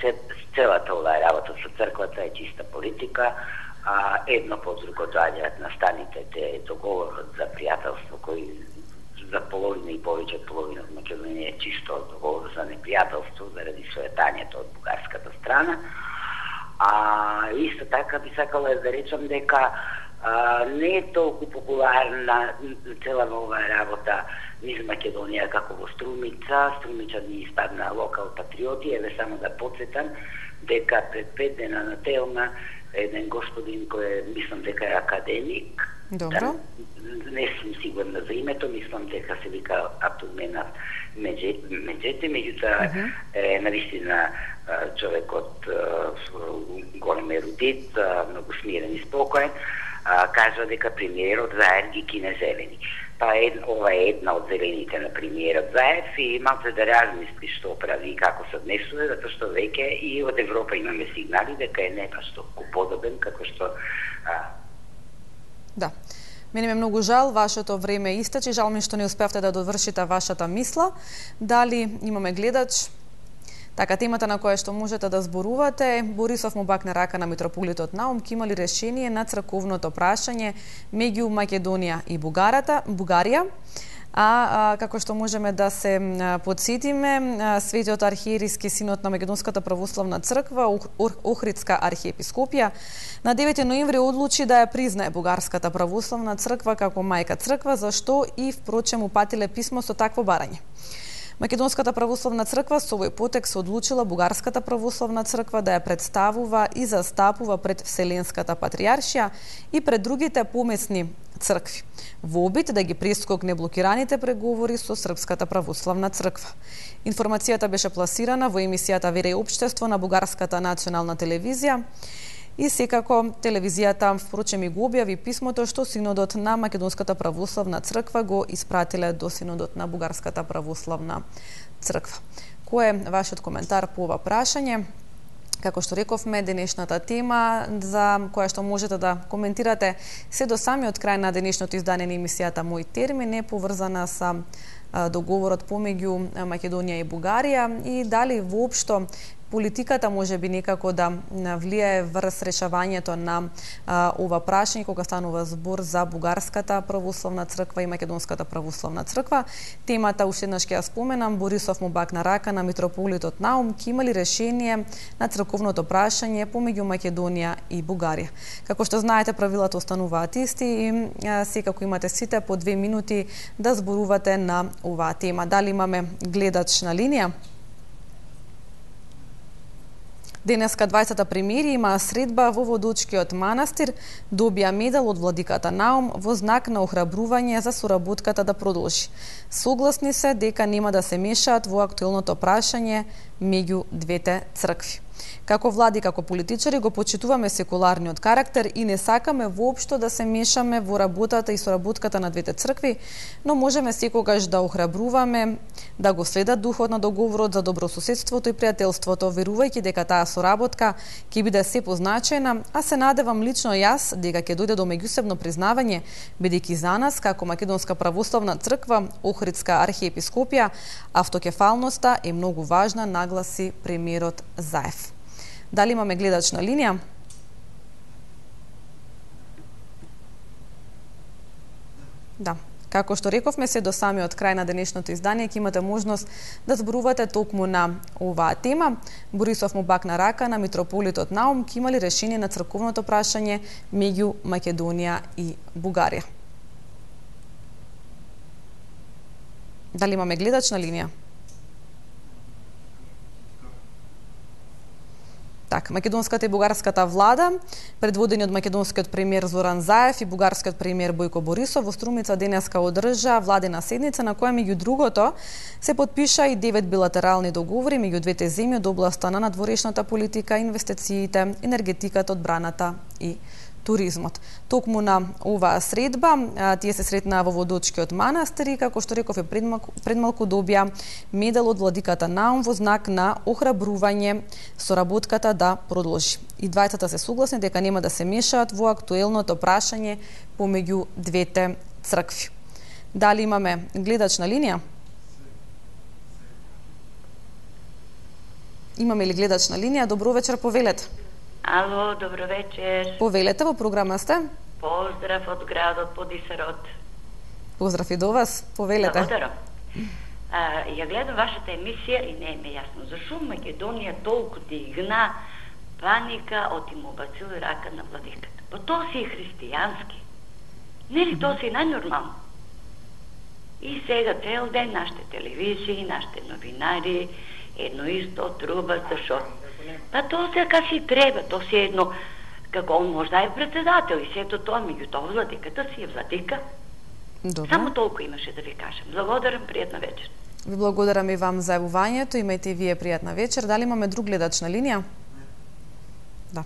целата оваа работа со црквата е чиста политика, а едно по друго доаѓаат настаните те договорот за пријателство кој за половина и повеќе од половина од Македонија е чисто договор за непријателство заради соетањето од бугарската страна. А исто така би сакала да речам дека а, не е толку популарна цела оваа работа низ Македонија како во Струмица. Струмица ни испадна локал патриоти. Еве само да подсетам дека пред пет дена на Телма еден господин кој е, мислам дека е академик. Добро. Не сум сигурна за името, мислам дека се вика Атуменав Меджете, меѓутоа uh-huh. е навистина човекот голем ерудит, многу смирен и спокоен, кажа дека премиерот Заев ги кине зелени. Па ед, ова е една од зелените на премиерот Заев и малце да размисли што прави и како се однесува, затоа што веќе и од Европа имаме сигнали дека е не баш толку подобен како што а... Да. Мене ме многу жал, вашето време истече, жал ми што не успевте да довршите вашата мисла. Дали имаме гледач? Така, темата на која што можете да зборувате, Борисов му бакне рака на митрополитот Наум, ке има ли решение на црковното прашање меѓу Македонија и Бугарата, Бугарија? А, а како што можеме да се подсетиме, Светиот архиерејски синод на Македонската православна црква, Охридска архиепископија, на девети ноември одлучи да ја признае Бугарската православна црква како мајка црква, за што и впрочем упатиле писмо со такво барање. Македонската православна црква со овој потек се одлучила Бугарската православна црква да ја представува и застапува пред Вселенската патријаршија и пред другите помесни цркви, во обид да ги прескокне блокираните преговори со Српската православна црква. Информацијата беше пласирана во емисијата Вера и општество на Бугарската национална телевизија и секако телевизијата впрочем и го објави писмото што синодот на Македонската православна црква го испратиле до синодот на Бугарската православна црква. Кој е вашиот коментар по ова прашање? Како што рековме, денешната тема за која што можете да коментирате се до самиот крај на денешното издание на емисијата Мој термин е поврзана со договорот помеѓу Македонија и Бугарија и дали воопшто политиката може би некако да влијае врз решавањето на а, ова прашање кога станува збор за Бугарската православна црква и Македонската православна црква. Темата уште еднаш ќе ја споменам, Борисов му бакна рака на митрополитот Наум, ке има ли решение на црковното прашање помеѓу Македонија и Бугарија. Како што знаете, правилата остануваат исти и а, секако имате сите по две минути да зборувате на оваа тема. Дали имаме гледач на линија? Денеска дваесет премиери има средба во Водочкиот манастир, добија медал од владиката Наум во знак на охрабрување за соработката да продолжи. Согласни се дека нема да се мешаат во актуелното прашање меѓу двете цркви. Како влади, како политичари го почитуваме секуларниот карактер и не сакаме воопшто да се мешаме во работата и соработката на двете цркви, но можеме секогаш да охрабруваме да го следат духот на договорот за добрососедството и пријателството, верувајќи дека таа соработка ќе биде се позначајна, а се надевам лично јас дека ќе дојде до меѓусебно признавање, бидејќи за нас како Македонска православна црква, Охридска архиепископија, автокефалноста е многу важна, нагласи премиерот Заев. Дали имаме гледач на линија? Да. Како што рековме, се до самиот крај на денешното издание ќе имате можност да зборувате токму на оваа тема. Борисов му бакна рака на митрополитот Наум, ке има ли решение на црковното прашање меѓу Македонија и Бугарија. Дали имаме гледач на линија? Так, македонската и бугарската влада, предводени од македонскиот премиер Зоран Заев и бугарскиот премиер Бојко Борисов, во Струмица денеска одржа владена седница на која меѓу другото се потпиша и девет билатерални договори меѓу двете земји од областа на надворешната политика, инвестициите, енергетиката, одбраната и туризмот. Токму на оваа средба, тие се сретнаа во Водочкиот манастир и, како што реков, е предмалку, предмалку добија медал од владиката Наум во знак на охрабрување соработката да продолжи. И двајцата се согласни дека нема да се мешаат во актуелното прашање помеѓу двете цркви. Дали имаме гледач на линија? Имаме ли гледач на линија? Добро вечер, повелете. Ало, добро вечер. Повелете, во програма сте. Поздрав од градот Подисарот. Поздрав и до вас, повелете. Благодарам. А, ја гледам вашата емисија и не е ме јасно зашо Македонија толку дигна паника од им убацили рака на владиката. Па тоа си е христијански. Нели тоа си најнормално? И сега цел ден нашите телевизии, нашите новинари, едно исто труба, зашо? Па тоа сега си треба, тоа си едно, како он можда е председател и сето тоа, меѓутоа владиката си е владика. Добре. Само толку имаше да ви кажам. Благодарам, пријатна вечер. Ви благодарам и вам за јавувањето, имајте и вие пријатна вечер. Дали имаме друг гледач на линија? Да.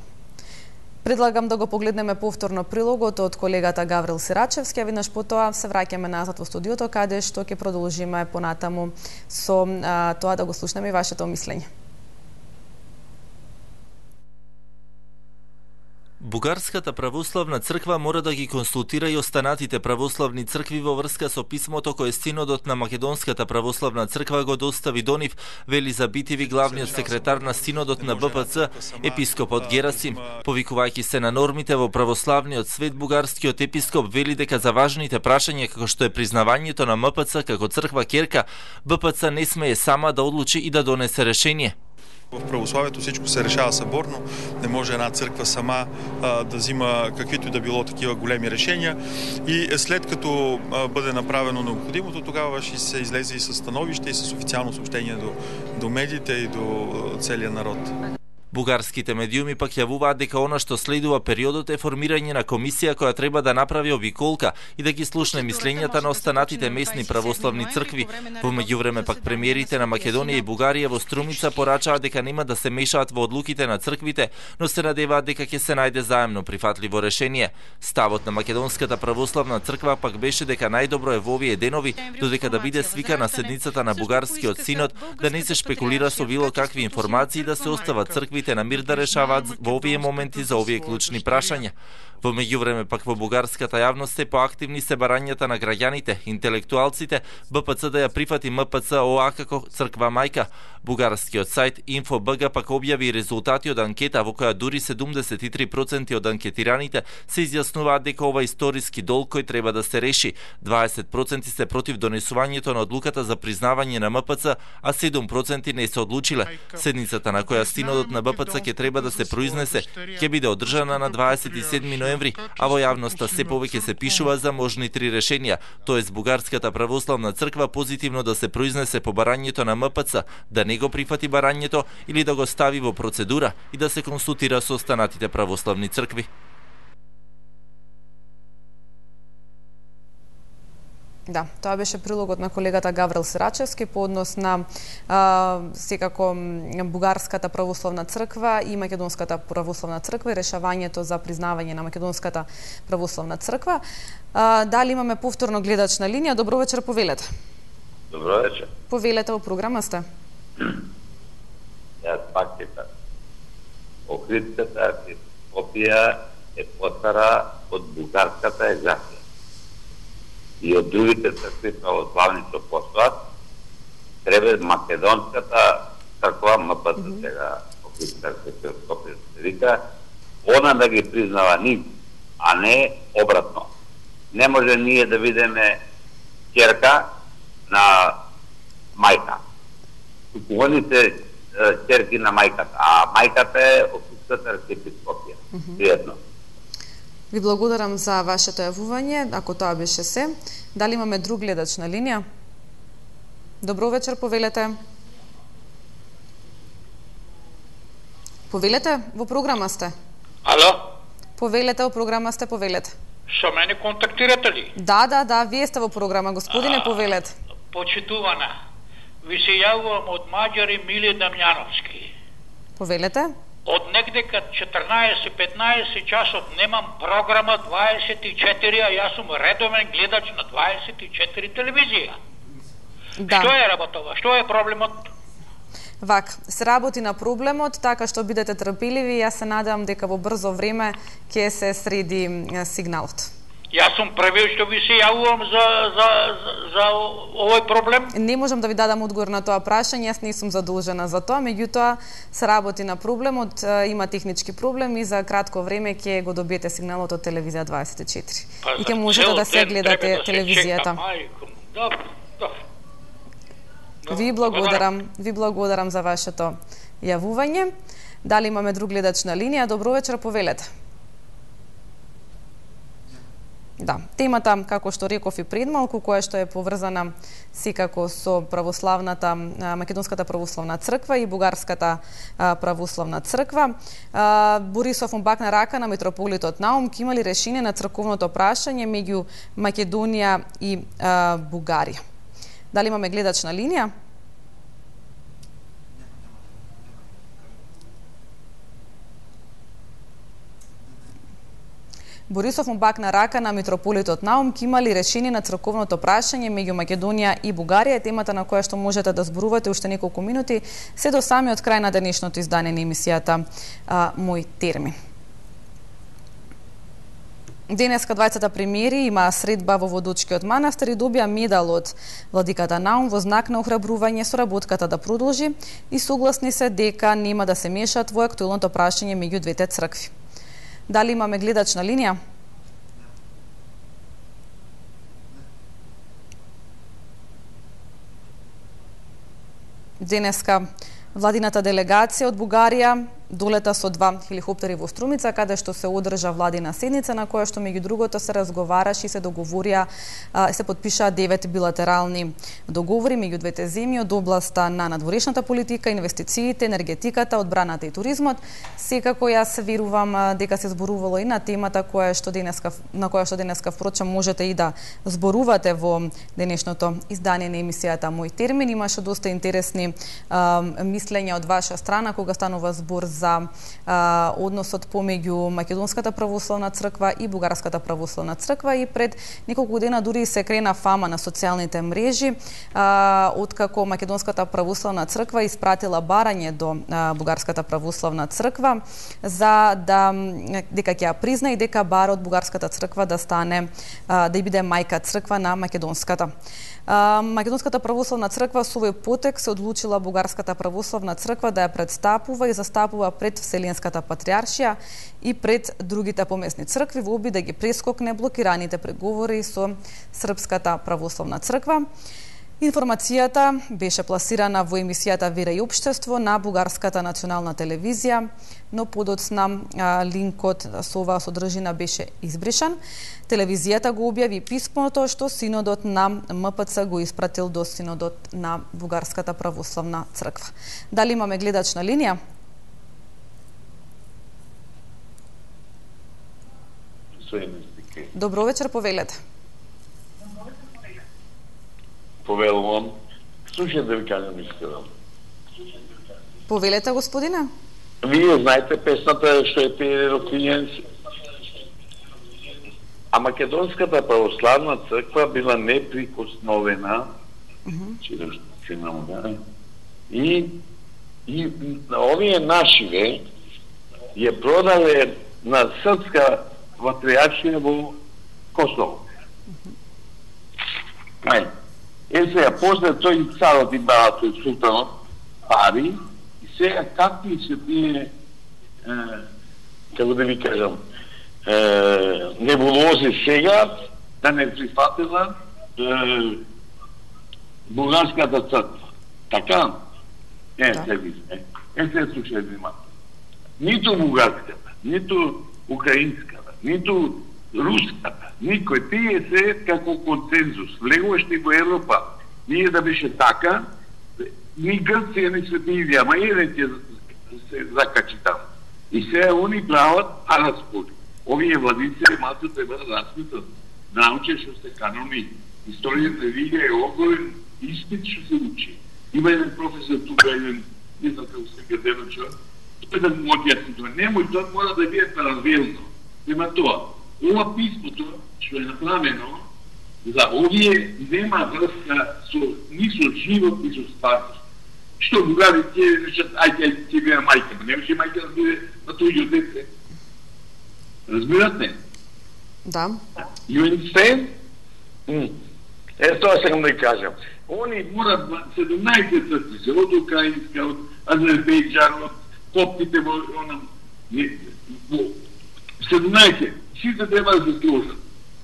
Предлагам да го погледнеме повторно прилогот од колегата Гаврил Сирачевски, а веднаш потоа се враќаме назад во студиото, каде што ќе продолжиме понатаму со а, тоа да го слушнеме и вашето мислење. Бугарската православна црква мора да ги консултира и останатите православни цркви во врска со писмото кое Синодот на Македонската православна црква го достави до нив, вели Забитиви главниот секретар на Синодот на Б П Ц, епископот Герасим. Повикувајќи се на нормите во православниот свет, бугарскиот епископ вели дека за важните прашања како што е признавањето на М П Ц како црква ќерка, Б П Ц не смее сама да одлучи и да донесе решение. В православието всичко се решава съборно, не може една църква сама а, да взима каквито и да било такива големи решения и след като а, бъде направено необходимото, тогава ще се излезе и със становище и с официално съобщение до, до медиите и до целия народ. Бугарските медиуми пак јавуваат дека она што следува периодот е формирање на комисија која треба да направи обиколка и да ги слушне мислењата на останатите местни православни цркви. Во меѓувреме пак премиерите на Македонија и Бугарија во Струмица порачаат дека нема да се мешаат во одлуките на црквите, но се надеваат дека ќе се најде заемно прифатливо решение. Ставот на Македонската православна црква пак беше дека најдобро е во овие денови, додека да биде свикана седницата на Бугарскиот синод, да не се шпекулира со било какви информации, да се остават црквите на мир да решаваат во овие моменти за овие клучни прашања. Во меѓувреме пак во бугарската јавност се поактивни се барањата на граѓаните, интелектуалците, Б П Ц да ја прифати М П Ц О А како црква мајка. Бугарскиот сајт Инфо Б Г пак објави резултати од анкета во која дури седумдесет и три проценти од анкетираните се изјаснуваат дека ова историски долг кој треба да се реши. дваесет проценти се против донесувањето на одлуката за признавање на М П Ц, а седум проценти не се одлучиле. Седницата на која Синодот на Б П Ц ќе треба да се произнесе, ќе биде одржана на дваесет и седми ноември, а во јавноста се повеќе се пишува за можни три решенија, тоест Бугарската православна црква позитивно да се произнесе по барањето на М П Ц, да не го прифати барањето или да го стави во процедура и да се консултира со останатите православни цркви. Да, тоа беше прилогот на колегата Гаврил Сирачевски по однос на а, секако Бугарската православна црква и Македонската православна црква и решавањето за признавање на Македонската православна црква. А, дали имаме повторно гледач на линија? Добро вечер, повелете. Добро вечер. Повелете, во програма сте. Јас пак питам. Охридската епископија е постара од бугарската екзархија. И од другите цркви православни што постојат, треба Македонската црква, М П Ц сега, Охридската епископија се вика, она да ги признава нив, а не обратно. Не може ние да видиме ќерка на мајка. Они се ќерки на мајката, а мајката е Охридската епископија. Пријатно. Ви благодарам за вашето јавување, ако тоа беше се. Дали имаме друг гледач на линија? Добро вечер, повелете. Повелете, во програма сте. Ало? Повелете, во програма сте, повелете. Со мене контактирате ли? Да, да, да, вие сте во програма, господине, повелете. Почитувана, ви се јавувам од Маѓари Миле Дамјановски. Повелете. Од негдека четрнаесет-петнаесет часот немам програма дваесет и четири, а јас сум редовен гледач на дваесет и четири телевизија. Да. Што е работова? Што е проблемот? Вак, се работи на проблемот, така што бидете трпеливи, јас се надевам дека во брзо време ќе се среди сигналот. Јас сум првиот што ви се јавувам за, за, за, за овој проблем. Не можам да ви дадам одговор на тоа прашање, јас не сум задолжена за тоа, меѓутоа се работи на проблемот, има технички проблем и за кратко време ќе го добиете сигналот од телевизија дваесет и четири. Па, и ќе можете да се гледате да телевизијата. Добро, добро. Ви благодарам, ви благодарам за вашето јавување. Дали имаме друг гледач на линија? Добро вечер, повелете. Да, темата, како што реков и пред малку, која што е поврзана секако со православната, Македонската православна црква и Бугарската православна црква. Борисов бакна рака на митрополитот Наум, ке имали решение на црковното прашање меѓу Македонија и Бугарија. Дали имаме гледач на линија? Борисов му бакна рака на митрополитот Наум, ке имали решение на црковното прашање меѓу Македонија и Бугарија, темата на која што можете да зборувате уште неколку минути, се до самиот крај на денешното издание на емисијата а, Мој термин. Денеска двајцата премиери има средба во Водочкиот манастир и добија медал од владиката Наум во знак на охрабрување соработката да продолжи и согласни се дека нема да се мешаат во актуелното прашање меѓу двете цркви. Дали имаме гледач на линија? Денеска владината делегација од Бугарија долета со два хеликоптери во Струмица, каде што се одржа владина седница на која што меѓу другото се разговараше и се договорија, се подпишаа девет билатерални договори меѓу двете земји од областа на надворешната политика, инвестициите, енергетиката, одбраната и туризмот. Секако јас верувам дека се зборувало и на темата која што денеска на која што денеска впрочем можете и да зборувате во денешното издание на емисијата Мој термин. Имаше доста интересни а, мислења од ваша страна кога станува збор за а, односот помеѓу Македонската православна црква и Бугарската православна црква и пред неколку дена дури се крена фама на социјалните мрежи а, откако Македонската православна црква испратила барање до а, Бугарската православна црква за да дека ќе ја призна и дека бара од Бугарската црква да стане а, да биде мајка црква на Македонската. Македонската православна црква со овој потек се одлучила Бугарската православна црква да ја представува и застапува пред Вселенската патриаршија и пред другите помесни цркви во обид да ги прескокне блокираните преговори со Српската православна црква. Информацијата беше пласирана во емисијата Вера и општество на Бугарската национална телевизија, но подоцна линкот со оваа содржина беше избришан. Телевизијата го објави писмото што синодот на М П Ц го испратил до синодот на Бугарската православна црква. Дали имаме гледач на линија? Добро вечер, повелете. Повелувам. Слушајте да ви кажам искрено. Повелете, господине. Вие знаете песната што е пее Роквињенс. А Македонската православна црква била неприкосновена, mm -hmm. и, и овие нашиве ја продале на Српска патриаршија во Косово. Mm -hmm. Е, сега, после тој царот и бала тој султанот пари, и сега какви се тие, е, како да ви кажам, е, небулози сега да не прифатила е, Бугарската црква. Така? Е, да. Се висне. Е, се слушај внимателно. Ниту бугарската, ниту украинската, ниту руската, никој, тие се како консензус. Влегуваште во Европа, ние да беше така, ни Грција, ни Свети ама еден ќе се закачи таму. И сега они прават араспори. Овие владици малку треба да распитат. Науче што се канони. Историјата религија е огромен испит што се учи. Има еден професор тука, еден, не знам како се гадено човек, тој да му објасни тоа. Немој, тоа мора да биде паралелно. Нема тоа. Ова писмото што е направено за овие нема врска со ни со живот, ни со старост. Што бугари ќе речат, ајде, ќе биде мајка, не може мајка да биде на тој дете. Разбирате? Да. You understand? Mm. Е, тоа сакам да кажам. Они морат седумнаесет цркви, од Украинска, од Азербејџан, од коптите во она седумнаесет. Сите треба да се сложат.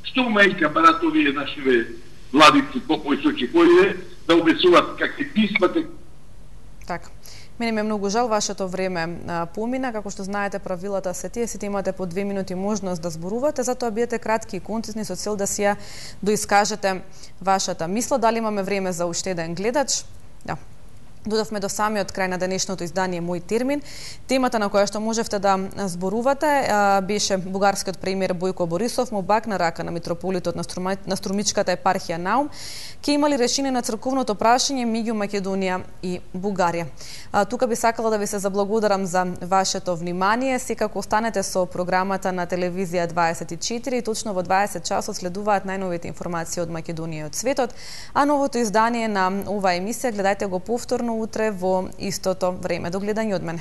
Што мајка барат овие нашиве владици, попојсочи, кои да обесуват какви писма. Така. Мене ми е многу жал, вашето време а, помина. Како што знаете, правилата се тие, сите имате по две минути можност да зборувате, затоа бидете кратки и концизни со цел да си ја доискажете вашата мисла. Дали имаме време за уште еден гледач? Да. Додавме до самиот крај на денешното издание Мој термин. Темата на која што можевте да зборувате беше бугарскиот премиер Бојко Борисов му бакна рака на митрополитот на, Струма, на Струмичката епархија Наум, ке имали решение на црковното прашање меѓу Македонија и Бугарија. А, тука би сакала да ви се заблагодарам за вашето внимание. Секако останете со програмата на телевизија дваесет и четири и точно во дваесет часот следуваат најновите информации од Македонија и од светот, а новото издание на оваа емисија гледајте го повторно утре во истото време. До гледање од мене.